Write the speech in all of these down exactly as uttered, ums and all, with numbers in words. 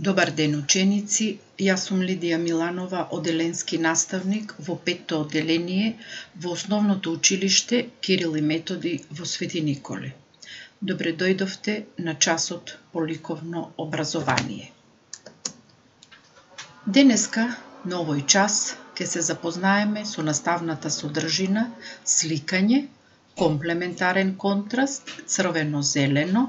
Добар ден, ученици. Јас сум Лидија Миланова, оделенски наставник во петто оделение во Основното училиште Кирил и Методи во Свети Николе. Добре дојдовте на часот по ликовно образование. Денеска, на овој час, ќе се запознаеме со наставната содржина, сликање, комплементарен контраст, црвено-зелено,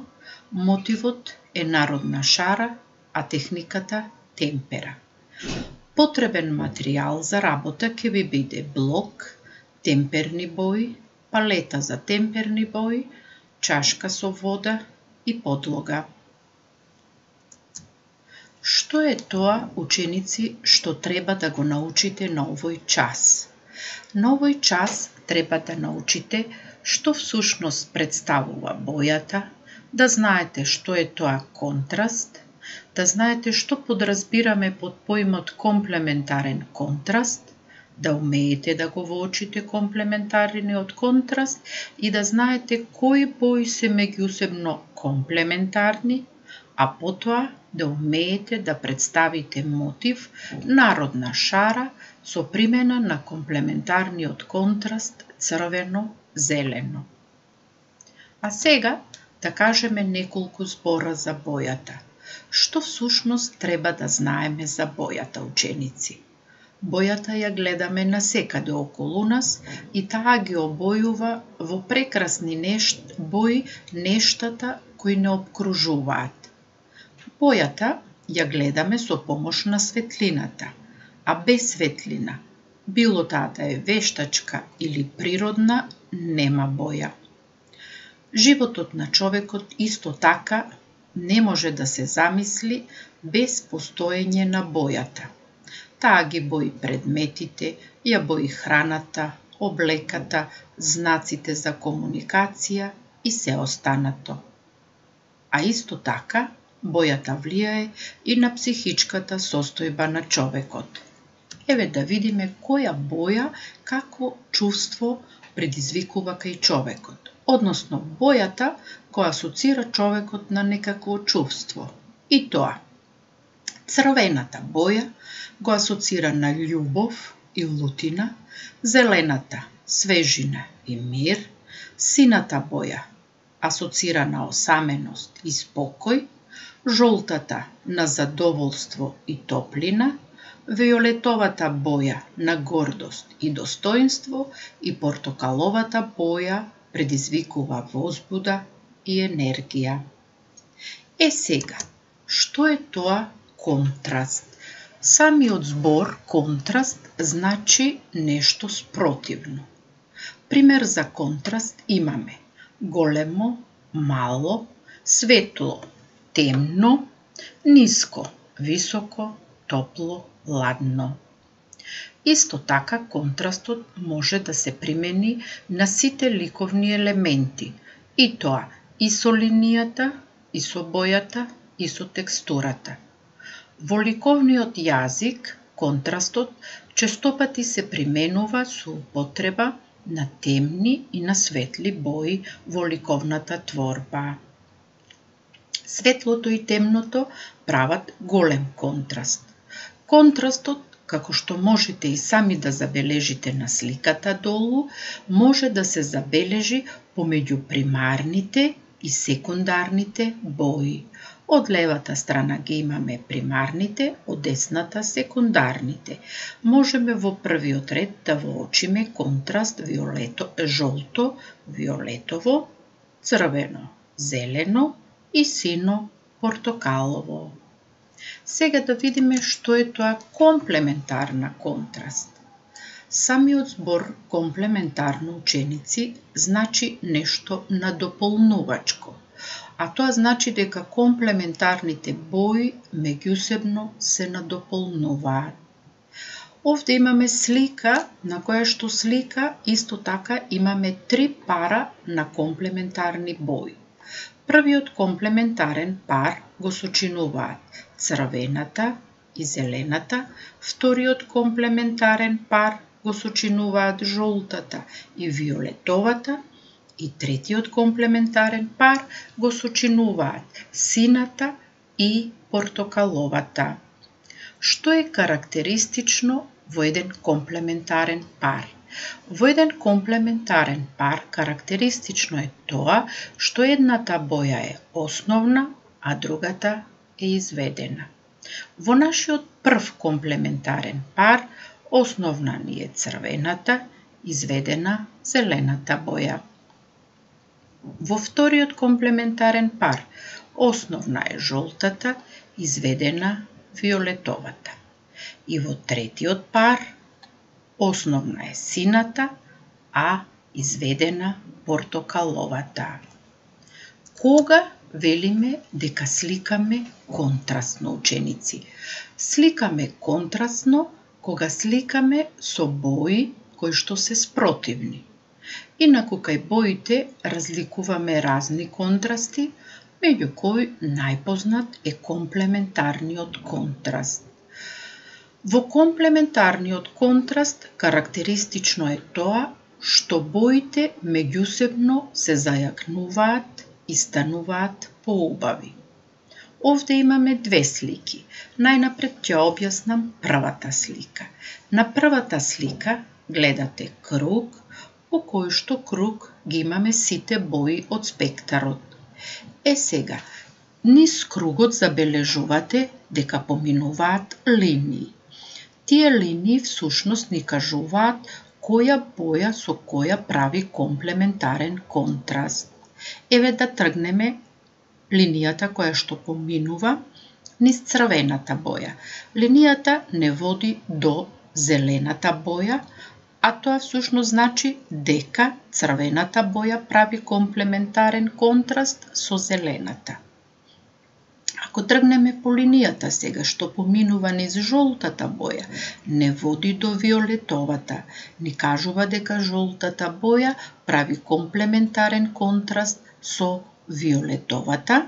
мотивот е народна шара, а техниката темпера. Потребен материјал за работа ќе ви биде блок, темперни бои, палета за темперни бои, чашка со вода и подлога. Што е тоа, ученици, што треба да го научите на овој час? На овој час треба да научите што всушност представува бојата, да знаете што е тоа контраст, да знаете што подразбираме под поимот комплементарен контраст, да умеете да го воочите комплементарниот контраст и да знаете кои бои се меѓусебно комплементарни, а потоа да умеете да представите мотив, народна шара со примена на комплементарниот контраст црвено-зелено. А сега да кажеме неколку збора за бојата. Што всушност треба да знаеме за бојата, ученици? Бојата ја гледаме насекаде околу нас и таа ги обојува во прекрасни нешт, бои нештата кои не обкружуваат. Бојата ја гледаме со помош на светлината, а без светлина, било таа да е вештачка или природна, нема боја. Животот на човекот исто така не може да се замисли без постоење на бојата. Таа ги бои предметите, ја бои храната, облеката, знаците за комуникација и се останато. А исто така, бојата влијае и на психичката состојба на човекот. Еве да видиме која боја какво чувство предизвикува кај човекот. Односно, бојата која асоцира човекот на некакво чувство. И тоа, црвената боја го асоцира на љубов и лутина, зелената свежина и мир, сината боја асоцира на осаменост и спокој, жолтата на задоволство и топлина, виолетовата боја на гордост и достоинство и портокаловата боја предизвикува возбуда и енергија. Е сега, што е тоа контраст? Самиот збор контраст значи нешто спротивно. Пример за контраст имаме големо, мало, светло, темно, ниско, високо, топло, ладно. Исто така, контрастот може да се примени на сите ликовни елементи, и тоа и со линијата, и со бојата, и со текстурата. Во ликовниот јазик, контрастот честопати се применува со употреба на темни и на светли бои во ликовната творба. Светлото и темното прават голем контраст. Контрастот, како што можете и сами да забележите на сликата долу, може да се забележи помеѓу примарните и секундарните бои. Од левата страна ги имаме примарните, од десната секундарните. Можеме во првиот ред да воочиме контраст виолето, жолто, виолетово, црвено, зелено и сино, портокалово. Сега да видиме што е тоа комплементарна контраст. Самиот збор комплементарно, ученици, значи нешто надополнувачко, а тоа значи дека комплементарните бои меѓусебно се надополнуваат. Овде имаме слика, на која што слика исто така имаме три пара на комплементарни бои. Првиот комплементарен пар го сочинуваат црвената и зелената, вториот комплементарен пар го сочинуваат жолтата и виолетовата и третиот комплементарен пар го сочинуваат сината и портокаловата. Што е карактеристично во еден комплементарен пар? Во еден комплементарен пар карактеристично е тоа што едната боја е основна, а другата е изведена. Во нашиот прв комплементарен пар основна ни е црвената, изведена зелената боја. Во вториот комплементарен пар основна е жолтата, изведена виолетовата. И во третиот пар основна е сината, а изведена портокаловата. Кога велиме дека сликаме контрастно, ученици? Сликаме контрастно кога сликаме со бои кои што се спротивни. Инаку кај боите разликуваме разни контрасти, меѓу кои најпознат е комплементарниот контраст. Во комплементарниот контраст карактеристично е тоа што боите меѓусебно се зајакнуваат и стануваат поубави. Овде имаме две слики. Најнапред ќе објаснам првата слика. На првата слика гледате круг, по кој што круг ги имаме сите бои од спектарот. Е сега, низ кругот забележувате дека поминуваат линии. Тие линии всушност ни кажуваат која боја со која прави комплементарен контраст. Еве да тргнеме линијата која што поминува низ црвената боја. Линијата не води до зелената боја, а тоа всушност значи дека црвената боја прави комплементарен контраст со зелената. Ако тргнеме по линијата сега што поминува низ жолтата боја, не води до виолетовата, ни кажува дека жолтата боја прави комплементарен контраст со виолетовата,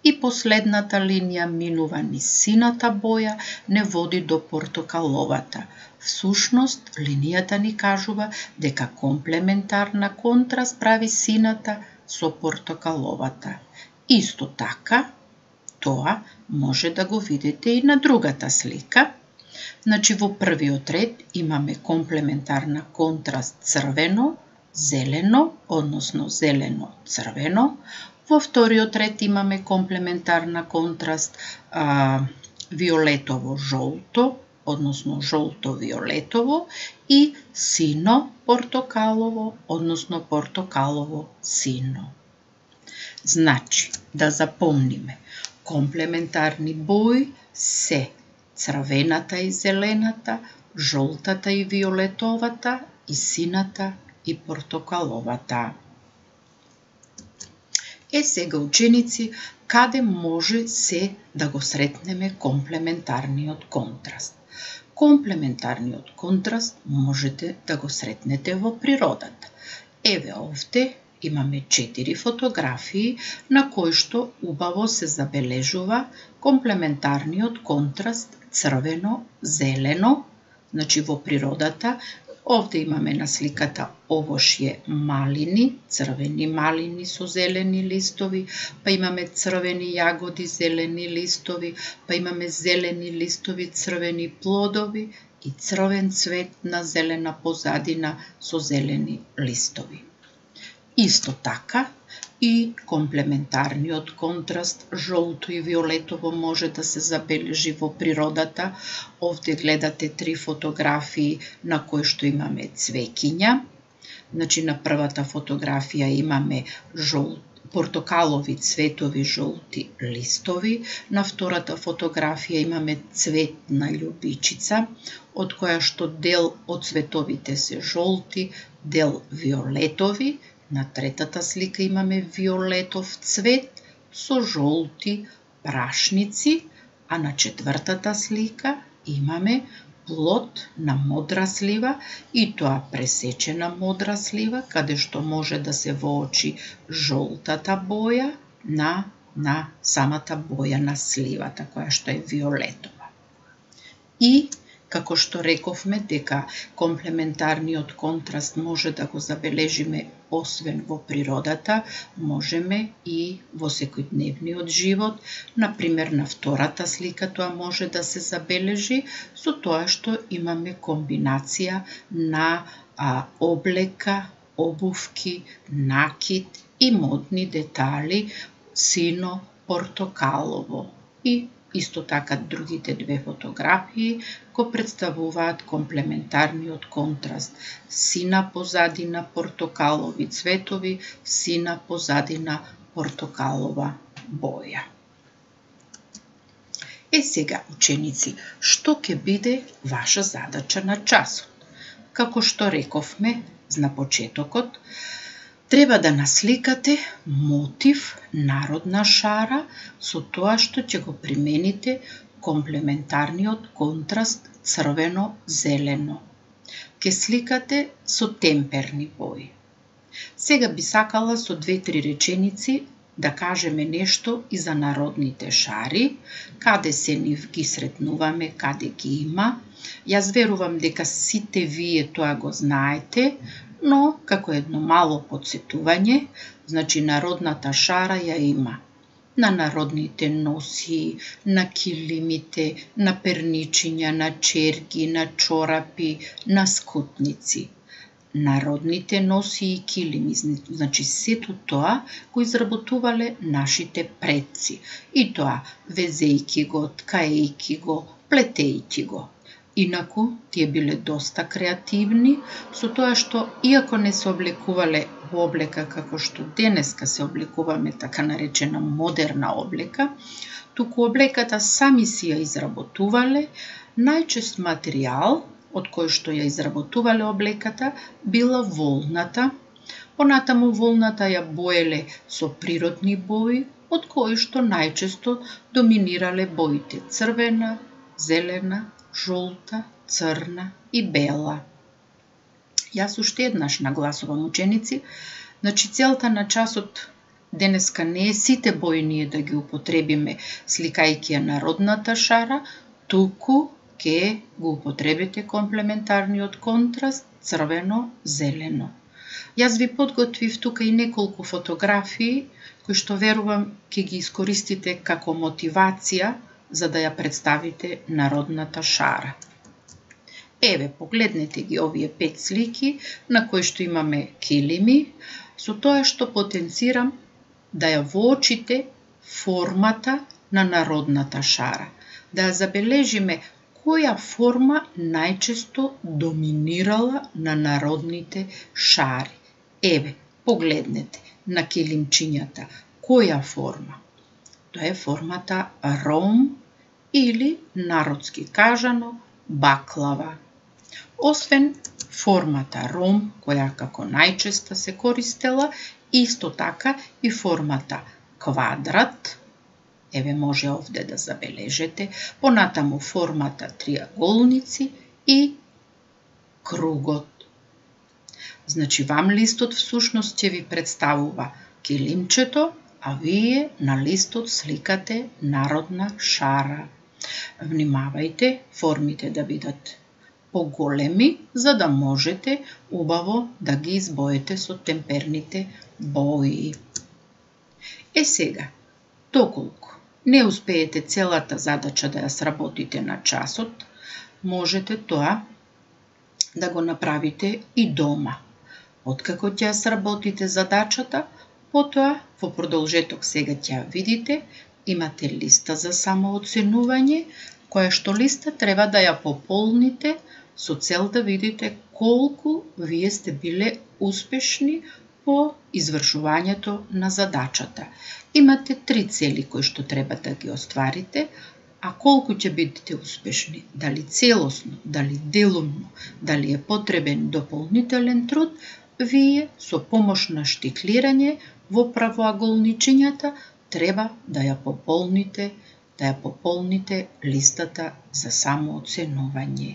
и последната линија минува низ сината боја, не води до портокаловата. Всушност, линијата ни кажува дека комплементарна контраст прави сината со портокаловата. Исто така, тоа може да го видите и на другата слика. Значи, во првиот ред имаме комплементарна контраст црвено, зелено, односно зелено-црвено. Во вториот ред имаме комплементарна контраст а, виолетово-жолто, односно жолто-виолетово, и сино-портокалово, односно портокалово-сино. Значи, да запомниме, комплементарни бои се црвената и зелената, жолтата и виолетовата, и сината и портокаловата. Е сега, ученици, каде може се да го сретнеме комплементарниот контраст? Комплементарниот контраст можете да го сретнете во природата. Еве овде имаме четири фотографии на кои што убаво се забележува комплементарниот контраст црвено-зелено, значи во природата. Овде имаме на сликата овошје малини, црвени малини со зелени листови, па имаме црвени јагоди, зелени листови, па имаме зелени листови, црвени плодови и црвен цвет на зелена позадина со зелени листови. Исто така и комплементарниот контраст жолто и виолетово може да се забележи во природата. Овде гледате три фотографии на кои што имаме цвеќиња. Значи, на првата фотографија имаме жолт, портокалови цветови жолти листови, на втората фотографија имаме цветна љубичица, од која што дел од цветовите се жолти, дел виолетови. На третата слика имаме виолетов цвет со жолти прашници, а на четвртата слика имаме плод на модра слива, и тоа пресечена модра слива, каде што може да се воочи жолтата боја на, на самата боја на сливата, која што е виолетова. И Како што рековме дека комплементарниот контраст може да го забележиме освен во природата, можеме и во секојдневниот живот. Например, на втората слика тоа може да се забележи со тоа што имаме комбинација на а, облека, обувки, накид и модни детали сино портокалово. И исто така другите две фотографии го представуваат комплементарниот контраст. Сина позадина, портокалови цветови, сина позадина, портокалова боја. Е сега, ученици, што ќе биде ваша задача на часот? Како што рековме на почетокот, треба да насликате мотив народна шара со тоа што ќе го примените комплементарниот контраст црвено-зелено. Ке сликате со темперни бои. Сега би сакала со две-три реченици да кажеме нешто и за народните шари, каде се нив ги сретнуваме, каде ги има. Јас верувам дека сите вие тоа го знаете, но како едно мало подсетување, значи народната шара ја има на народните носи, на килимите, на перничиња, на черги, на чорапи, на скутници. Народните носи и килими, значи сето тоа го изработувале нашите предци. И тоа везејки го, ткаејки го, плетејки го. Инаку, тие биле доста креативни, со тоа што, иако не се облекувале во облека како што денеска се облекуваме, така наречена модерна облека, туку облеката сами си ја изработувале, најчест материјал од кој што ја изработувале облеката била волната, понатаму волната ја боеле со природни бои, од кои што најчесто доминирале боите црвена, зелена, жолта, црна и бела. Јас уште еднаш нагласувам, ученици, значи целта на часот денеска не е сите бои ние да ги употребиме сликајќи ја народната шара, туку ке го употребите комплементарниот контраст црвено-зелено. Јас ви подготвив тука и неколку фотографии кои што верувам ке ги искористите како мотивација за да ја представите народната шара. Еве, погледнете ги овие пет слики на кои што имаме килими, со тоа што потенцирам да ја воочите формата на народната шара, да ја забележиме која форма најчесто доминирала на народните шари. Еве, погледнете на килимчињата, која форма? Тоа е формата ром или, народски кажано, баклава. Освен формата ром, која како најчесто се користела, исто така и формата квадрат, еве може овде да забележете, понатаму формата триаголници и кругот. Значи, вам листот всушност ќе ви представува килимчето, а вие на листот сликате народна шара. Внимавајте формите да бидат поголеми, за да можете убаво да ги избоите со темперните бои. Е сега, доколку не успеете целата задача да ја сработите на часот, можете тоа да го направите и дома. Откако ќе ја сработите задачата, потоа во продолжеток сега ќе ја видите, имате листа за самооценување, која што листа треба да ја пополните со цел да видите колку вие сте биле успешни по извршувањето на задачата. Имате три цели кои што треба да ги остварите, а колку ќе бидете успешни, дали целосно, дали делумно, дали е потребен дополнителен труд, вие со помош на штиклирање во правоаголничињата треба да ја пополните, да ја пополните листата за самооценување.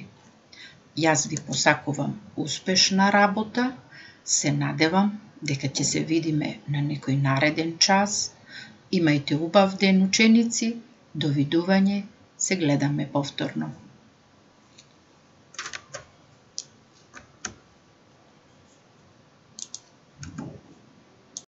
Јас ви посакувам успешна работа, се надевам дека ќе се видиме на некој нареден час. Имајте убав ден, ученици, довидување, се гледаме повторно.